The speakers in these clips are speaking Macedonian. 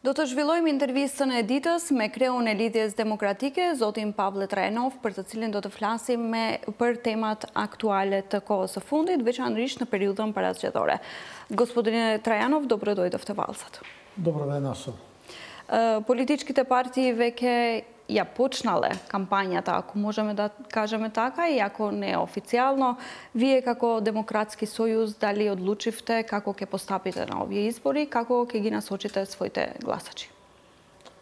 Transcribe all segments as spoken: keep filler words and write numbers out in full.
Дотоа жвилоим интервиста на Едитас ме креун елидиес демократике, зотим Павле Трајанов, për të cilin do të flasim me për temat aktuale të kohës së fundit, veçanërisht në periudhën paraqëtore. Gospodine Trajanov, dobro dojdovte valsat. Dobro venaso. Политичките партии веќе ја почнале кампањата, ако можеме да кажеме така, и ако не официјално. Вие како Демократски сојуз дали одлучивте како ќе постапите на овие избори, како ќе ги насочите своите гласачи?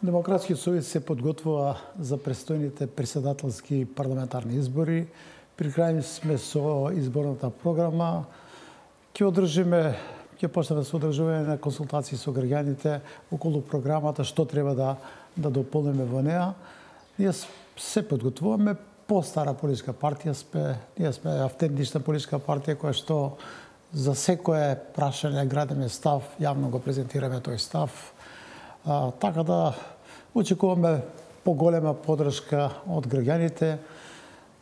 Демократски сојуз се подготвува за престојните претседателски парламентарни избори. При крај сме со изборната програма. Ќе одржиме ќе почнеме да се одржување на консултации со граѓаните околу програмата, што треба да да дополниме во неа. Ние се подготвуваме по стара политичка партија, сме, ние сме автентична политичка партија која што за секое прашање градиме став, јавно го презентираме тој став. А, така да очекуваме поголема поддршка од граѓаните.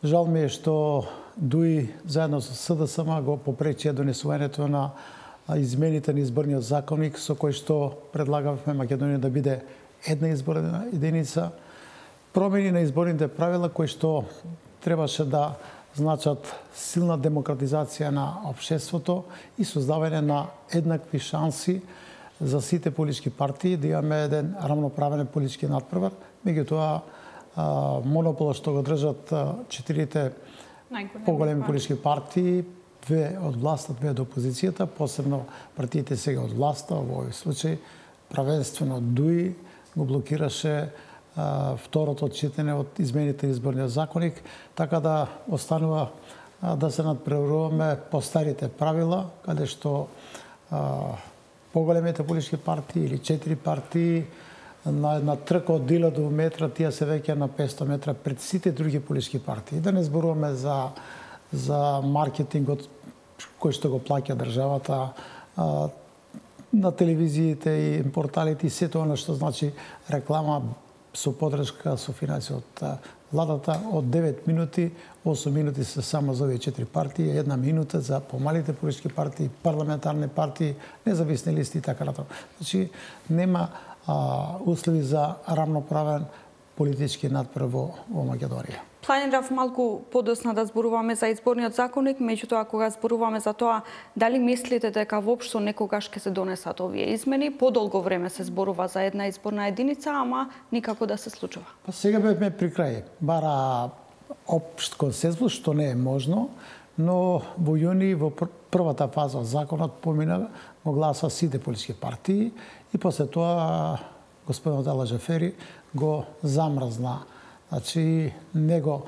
Жал ми е што ДУИ заедно со СДСМ го попречи донесувањето на измените на изборниот законник, со кој што предлагавме Македонија да биде една изборна единица, промени на изборните правила кои што требаше да значат силна демократизација на општеството и создавање на еднакви шанси за сите политички партии, да имаме еден рамноправен политички надпревар. Меѓутоа, монополот што го држат четирите поголеми политички партии, две од власта, две од опозицијата, посебно партиите сега од власта, во овој случај правенствено ДУИ го блокираше а, второто читање од измените на изборниот законник, така да останува а, да се надпреваруваме по старите правила, каде што а, поголемите политички партии или четири партии на една трка од илјаду метра, тие се веќе на петсто метра пред сите други политички партии. Да не зборуваме за за маркетингот кој што го плаќа државата, а, на телевизиите и порталите и сето оно што значи реклама со поддршка, со финансија од владата. Од девет минути, осум минути се само за овие четири партии, една минута за помалите политички партии, парламентарни партии, независни листи и така натаму. Значи нема а, услови за рамноправен политички надпрев во, во Македонија. Планирав малку подосна да зборуваме за изборниот законник, меѓутоа кога зборуваме за тоа, дали мислите дека воопшто некогаш ќе се донесат овие измени? Подолго време се зборува за една изборна единица, ама никако да се случува. Па сега бевме при крај. Бара општ консензус, што не е можно, но во јуни, во првата фаза од законот помина, го гласа сите политички партии и после тоа господинот Ала Джафери го замрзна. Значи, не го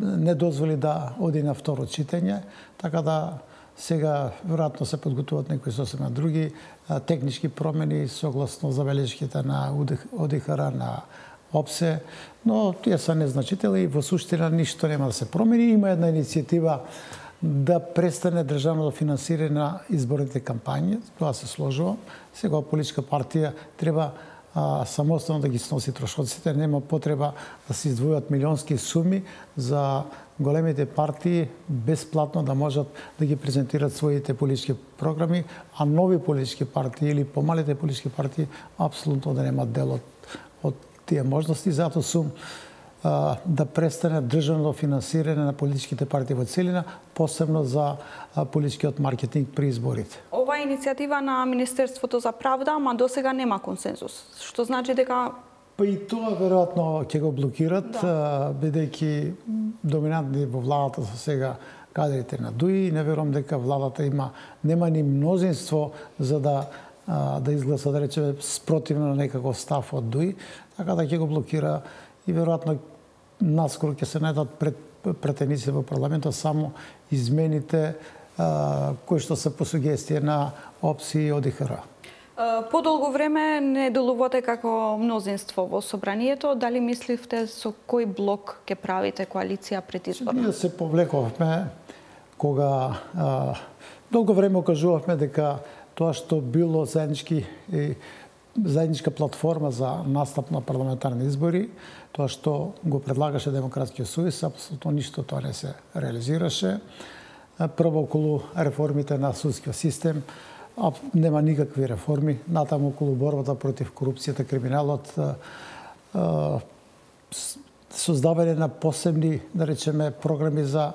не дозволи да оди на второ читање, така да сега веројатно се подготвуваат некои сосема други технички промени согласно забелешките на ОДИХР, на ОПСЕ, но тие се незначителни и во суштина ништо нема да се промени. Има една иницијатива да престане државното финансирање на изборните кампањи, тоа се сложува. Сега политичка партија треба а, самостојно да ги сноси трошоците, нема потреба да се издвојат милионски суми за големите партии бесплатно да можат да ги презентираат своите политички програми, а нови политички партии или помалите политички партии апсолутно да немаат дел од, од тие можности. Затоа сум а, да престане државно финансирање на политичките партии во целина, посебно за а, политичкиот маркетинг при изборите. Ова е иницијатива на Министерството за правда, ама досега нема консензус, што значи дека Па и тоа веројатно ќе го блокират, да. Бидејќи доминантни во владата се сега кадрите на ДУИ. Не верувам дека владата има нема ни мнозинство за да да изгласа, да речеме, спротивно на некаков став од ДУИ, така да ќе го блокира и веројатно наскоро ќе се најдат пред претеници во парламентот само измените а, кои што се по сугестија на ОПСИ и ОДИХР. Подолго време не делувате како мнозинство во собранието. Дали мисливте со кој блок ќе правите коалиција пред изборот? Ние се повлековме кога а, долго време окажувавме дека тоа што било заеднички и заедничка платформа за настап на парламентарни избори, тоа што го предлагаше Демократскиот сојуз, апсолутно ништо тоа не се реализираше. Прво околу реформите на судскиот систем, нема никакви реформи. Натаму околу борбата против корупцијата, криминалот, создавање на посебни, да речеме, програми за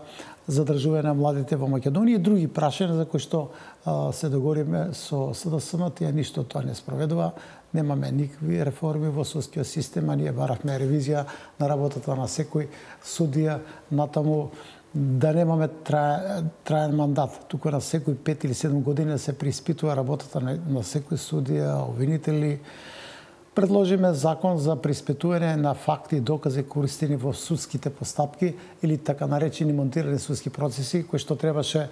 задржување на младите во Македонија и други прашања за кои што а, се договориме со СДСМ, тие ништо тоа не спроведува. Немаме никакви реформи во судскиот систем, а ние баравме ревизија на работата на секој судија, натаму да немаме траен, траен мандат, туку на секој пет или седум години се преиспитува работата на, на секој судија, обвинители. Предложиме закон за преиспитување на факти и докази користени во судските постапки или така наречени монтирани судски процеси, кои што требаше,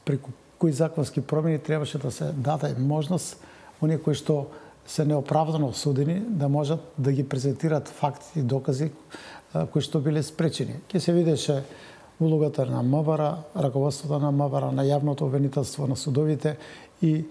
преку кои законски промени требаше да се даде можност оние кои што се неоправдано осудени да можат да ги презентираат факти и докази кои што биле спречени. Ке се видеше улогата на МВР, раководството на МВР, на јавното обвинителство, на судовите и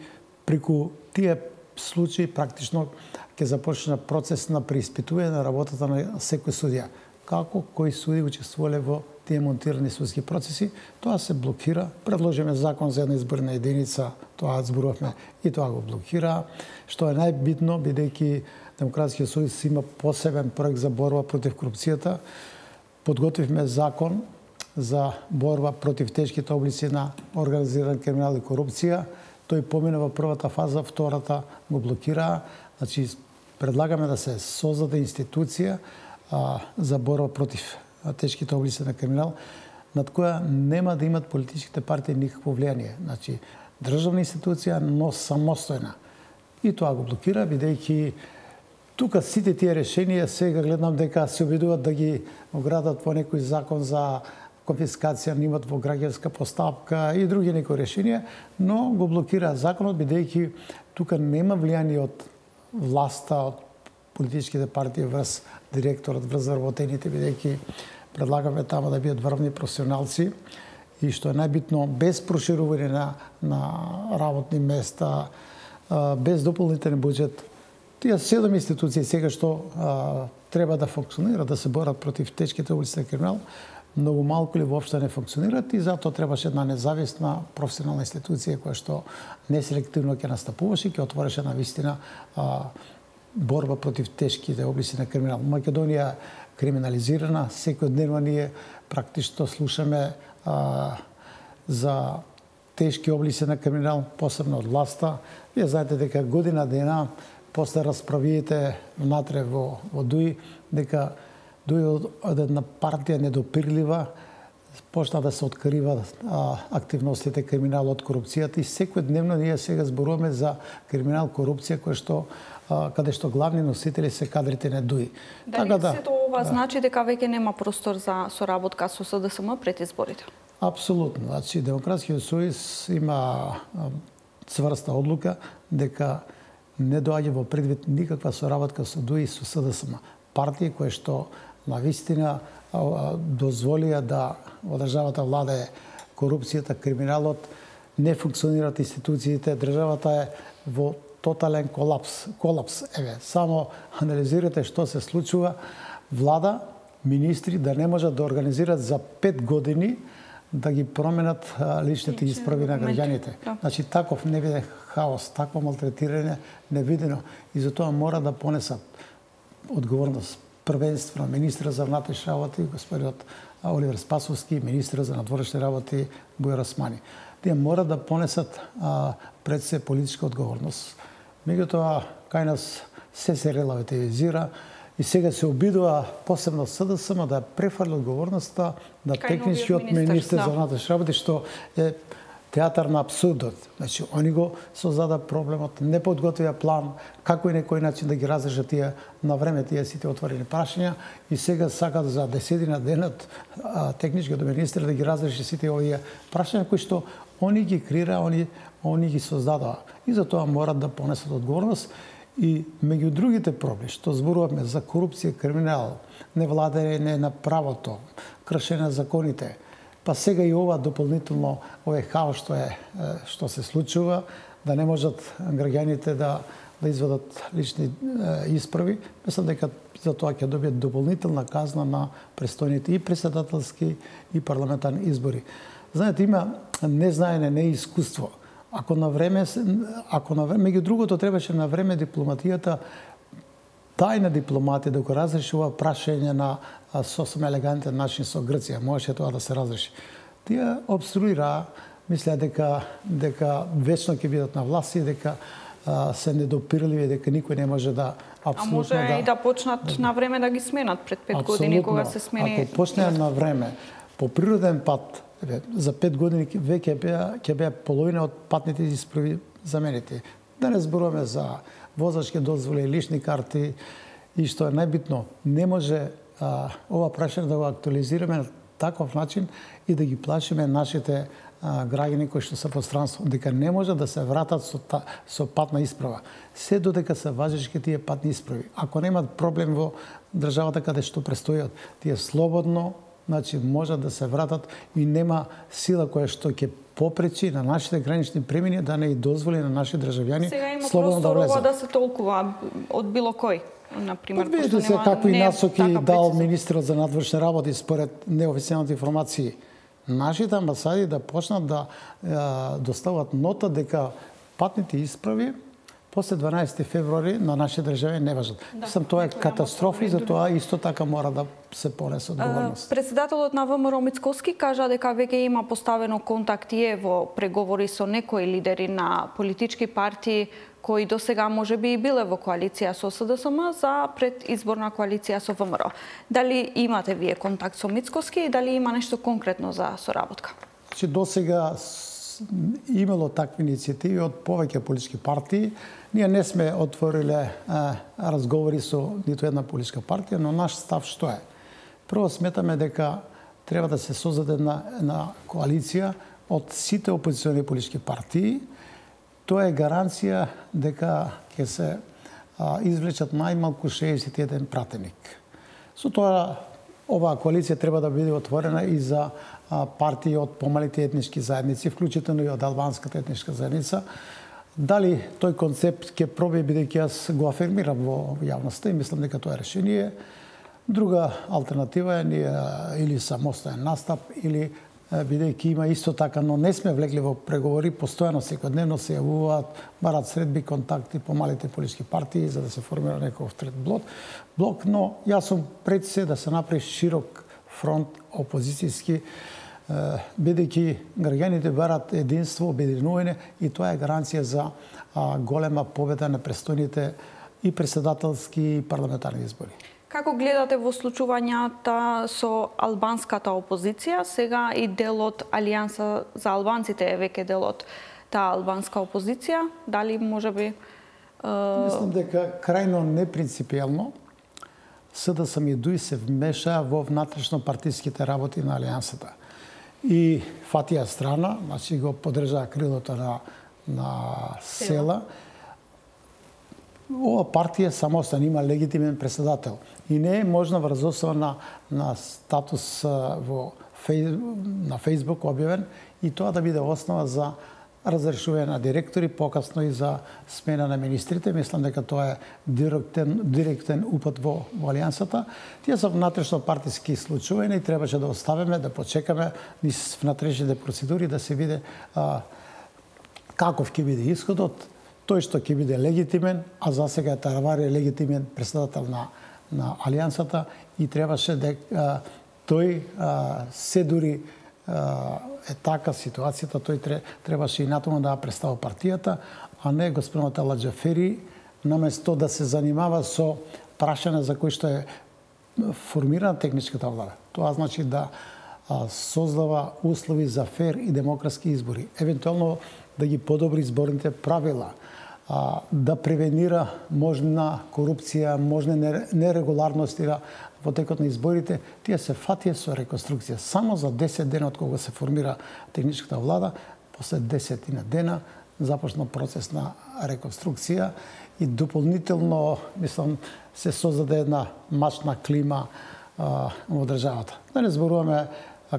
преку тие случаи практично ќе започне процес на преиспитување на работата на секој судија. Како кои суди учествувале во тие монтирани судски процеси, тоа се блокира. Предложиме закон за една изборна единица, тоа зборувавме и тоа го блокира. Што е најбитно, бидејќи Демократскиот сојуз има посебен проект за борба против корупцијата, подготвивме закон за борба против тешките облици на организиран криминал и корупција. Тој помина во првата фаза, втората го блокира. Значи, предлагаме да се создаде институција а, за борба против тешките облици на криминал, над која нема да имат политичките партии никакво влијание. Значи, државна институција, но самостојна. И тоа го блокира, бидејќи тука сите тие решенија сега гледам дека се обидуваат да ги оградат во некој закон за конфискација на имот во граѓанска постапка и други некои решенија, но го блокира законот, бидејќи тука нема влијание од власта, од политичките партии врз директорот, врз вработените, бидејќи предлагаме тamo да бидат врвни професионалци и што е најбитно, без проширување на, на работни места, без дополнителен буџет. Тие седум институции сега што а, треба да функционираат, да се борат против тешките облици на криминал, многу малку или воопшто не функционираат и затоа требаше една независна професионална институција која што неселективно ќе настапуваше и ќе отвореше на вистина а, борба против тешките облици на криминал. Македонија криминализирана, секојдневно ние практично слушаме а, за тешки облици на криминал, посебно од власта. Вие знаете дека година дена после расправиите внатре во, во ДУИ, дека ДУИ од една партија недопирлива почна да се открива а, активностите криминал од корупцијата и секојдневно ние сега зборуваме за криминал, корупција, кој што а, каде што главни носители се кадрите на ДУИ. Дали така да, сето ова да. Значи дека веќе нема простор за соработка со СДСМ пред изборите? Апсолутно. Значи Демократскиот сојуз има цврста одлука дека не доаѓа во предвид никаква соработка со ДУИ и со СДСМ. Партии кои што на вистина дозволија да во државата владае корупцијата, криминалот, не функционираат институциите, државата е во тотален колапс. Колапс, еве, само анализирате што се случува. Влада, министри да не можат да организираат за пет години да ги променат личните исправи на граѓаните. Значи, таков невиден хаос, такво малтретирање невидено и затоа мора да понесат одговорност првенствено министра за внатрешни работи, господинот Оливер Спасовски, министра за надворешни работи Бујар Османи. Тие мора да понесат а, пред се политичка одговорност. Меѓутоа, кај нас се се релативизира и сега се обидува посебно СДСМ да префарли одговорноста на техничкиот министер да. за внатрешни работи, што е театар на абсурдот. Значи, они го создада проблемот, не подготвија план, како и некој начин да ги разрешат тие на време тие сите отворени прашања и сега сакат за десетина денот техничкиот министер да ги разреши сите овие прашања кои што они ги креира, они, они ги создадоа. И за тоа морат да понесат одговорност. И меѓу другите проблеми, што зборуваме за корупција, криминал, невладење на правото, кршење на законите, па сега и ова дополнително овој хаос што е што се случува, да не можат граѓаните да да извадат лични е, исправи, мислам дека за тоа ќе добијат дополнителна казна на престојните и претседателски и парламентарни избори. Знаете, има незнаење, неискуство, Ако на време, ако на време, меѓу другото требаше на време дипломатијата, тајна дипломатија да го разреши ова прашање на сосем елегантен начин со Грција, можеше тоа да се разреши. Тие обструира, мислеа дека дека вечно ќе бидат на власт и дека а, се недопирливи, дека никој не може да апсолутно А може да... и да почнат на време да ги сменат пред пет години кога се смени. Ако почнеа на време, по природен пат, за пет години веќе беа ќе беа половина од патните исправи заменети. Да не зборуваме за возачки дозволи, лични карти и што е најбитно, не може а, ова прашање да го актуализираме на таков начин и да ги плашиме нашите а, граѓани кои што се по странство, дека не може да се вратат со, та, со патна исправа. Се додека се важечки тие патни исправи. Ако немат проблем во државата каде што престојат, тие слободно, значи може да се вратат и нема сила која што ќе попречи на нашите гранични премини да не и дозволи на наши државјани слободно да влезат. Сега има простор да се толкува од било кој. Например, видите се какви насоки дал министерот за надворешни работи според неофицијалните информации. Нашите амбасади да почнат да е, достават нота дека патните исправи после дванаесети февруари на нашите држави не важат. Да, Мислам, тоа е катастрофа и за тоа исто така мора да се понесе одговорност. Председателот на ВМРО Мицкоски кажа дека веќе има поставено контакти во преговори со некои лидери на политички партии кои до сега може би и биле во коалиција со СДСМ за предизборна коалиција со ВМРО. Дали имате вие контакт со Мицкоски и дали има нешто конкретно за соработка? Че до сега имало такви иницијативи од повеќе политички партии. Ние не сме отвориле а, разговори со ниту една политичка партија, но наш став што е? Прво сметаме дека треба да се создаде една, една коалиција од сите опозициони политички партии. Тоа е гаранција дека ќе се а, извлечат најмалку шеесет и еден пратеник. Со тоа, оваа коалиција треба да биде отворена и за а, партии од помалите етнички заедници, вклучително и од албанската етничка заедница. Дали тој концепт ќе проби, бидејќи јас го афирмирам во јавноста и мислам дека тоа е решение. Друга алтернатива е ние или самостоен настап, или бидејќи има исто така, но не сме влегли во преговори, постојано секојдневно се јавуваат, барат средби контакти по малите политички партии за да се формира некој трет блок, блок, но јас сум пред се да се направи широк фронт опозицијски, бидејќи граѓаните барат единство, обединување и тоа е гаранција за голема победа на престојните и председателски и парламентарни избори. Како гледате во случувањата со албанската опозиција? Сега и дел од Алијанса за албанците е веќе дел од таа албанска опозиција. Дали можеби... Е... Мислам дека крајно непринципиелно СДСМ и ДУИ се вмеша во внатрешно партиските работи на Алијансата. И фатија страна, значи го поддржаа крилото на, на села. Ова партија самостојно има легитимен председател и не е можна врз основа на, на статус во фейс, на Фејсбук објавен и тоа да биде основа за разрешување на директори, покасно и за смена на министрите. Мислам дека тоа е директен, директен упат во, во Алијансата. Тие се внатрешно партиски случувања и требаше да оставиме, да почекаме низ внатрешните процедури да се види а, каков ќе биде исходот. Тој што ќе биде легитимен, а за сега Таравари е легитимен председател на, на Алијансата и требаше дека тој а, се дури а, е така ситуацијата, тој требаше и натаму да представи партијата, а не господинот Ала Џафери, наместо да се занимава со прашање за кој што е формирана техничката влада. Тоа значи да а, создава услови за фер и демократски избори, евентуално да ги подобри изборните правила, а, да превенира можна корупција, можни нерегуларности во текот на изборите. Тие се фатија со реконструкција. Само за десет дена од кога се формира техничката влада, после десетина дена започна процес на реконструкција и дополнително, мислам, се создаде една мачна клима а, во државата. Да не зборуваме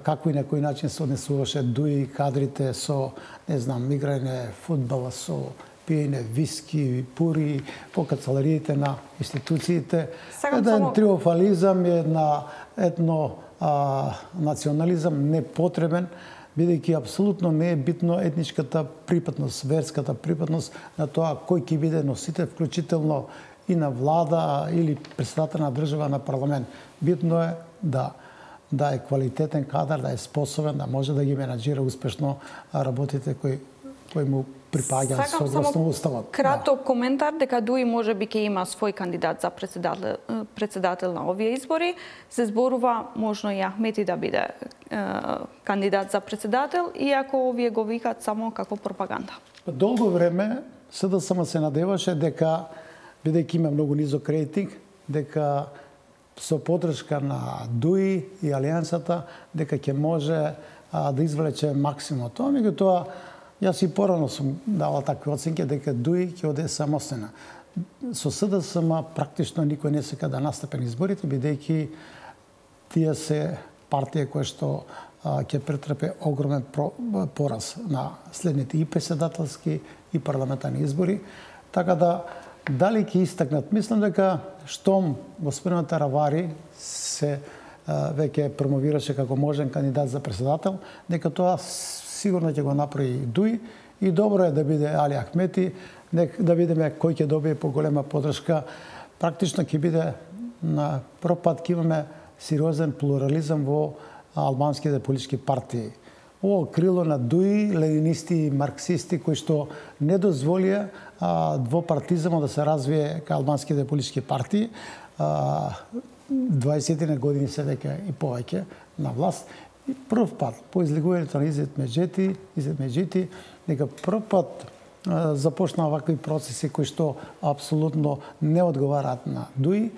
како и на кој начин се однесуваше ДУИ кадрите со, не знам, играње фудбала, со пиење виски, пури, по канцелариите на институциите. Еден само... триумфализам, една етно а, национализам непотребен, бидејќи апсолутно не е битно етничката припадност, верската припадност на тоа кој ќе биде носител, вклучително и на влада или председател на држава на парламент. Битно е да да е квалитетен кадар, да е способен, да може да ги менаџира успешно работите кои кои му припаѓаат согласно уставот. Краток да. Коментар дека ДУИ можеби ќе има свој кандидат за председател, председател на овие избори. Се зборува можно и Ахмети да биде е, кандидат за председател, иако овие го викаат само како пропаганда. Долго време СДСМ се надеваше дека, бидејќи има многу низок рейтинг, дека со поддршка на ДУИ и Алијансата, дека ќе може а, да извлече максимум тоа. Меѓутоа, јас и порано сум давал такви оценки дека ДУИ ќе оде самостојна. Со СДСМ практично никој не сека да настапи на изборите, бидејќи тие се партија која што а, ќе претрпе огромен про, пораз на следните и председателски и парламентарни избори. Така да, дали ќе истакнат? Мислам дека штом господин Таравари се а, веќе промовираше како можен кандидат за председател, дека тоа сигурно ќе го направи ДУИ и добро е да биде Али Ахмети, да видиме кој ќе добие поголема поддршка. Практично ќе биде на прв пат ќе имаме сериозен плурализам во албанските политички партии. Ово крило на ДУИ, ленинисти и марксисти кои што не дозволија двопартизмот да се развие кај албанските политички партии. дваесет години се веќе и повеќе на власт. И прв пат, по излегувањето на Изет Меджети, Изет Меджети, дека прв пат а, започна вакви процеси кои што апсолутно не одговараат на ДУИ.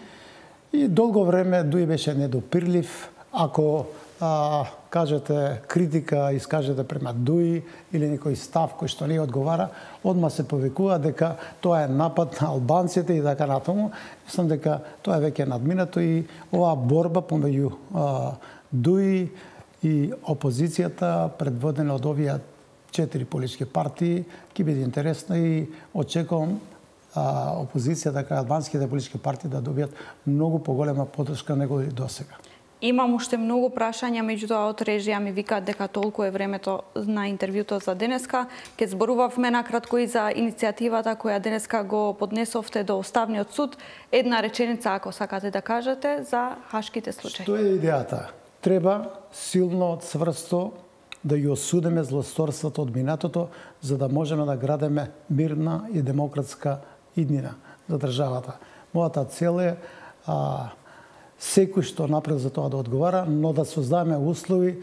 И долго време ДУИ беше недопирлив. Ако а, кажете критика, искажете према ДУИ или некој став кој што не одговара, одма се повикува дека тоа е напад на албанците и така натаму. Мислам дека тоа е веќе надминато и оваа борба помеѓу ДУИ и опозицијата, предводена од овие четири политички партии, ќе биде интересна и очекувам а, опозицијата кај албанските политички партии да добијат многу поголема поддршка него и досега. Имам уште многу прашања, меѓутоа од режија ми викаат дека толку е времето на интервјуто за денеска. Ке зборувавме накратко и за иницијативата која денеска го поднесовте до Уставниот суд. Една реченица, ако сакате да кажете, за хашките случаи. Што е идејата? Треба силно, цврсто да ја осудиме злосторството од минатото, за да можеме да градиме мирна и демократска иднина за државата. Мојата цел е а, секој што направи за тоа да одговара, но да создадеме услови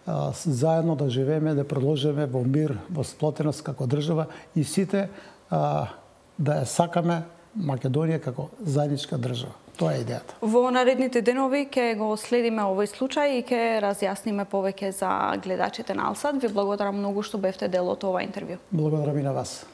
а, заедно да живееме, да продолжиме во мир, во сплотеност како држава и сите а, да ја сакаме Македонија како заедничка држава. Тоа е идејата. Во наредните денови ќе го следиме овој случај и ќе разјасниме повеќе за гледачите на Алсат. Ви благодарам многу што бевте дел од ова интервју. Благодарам и на вас.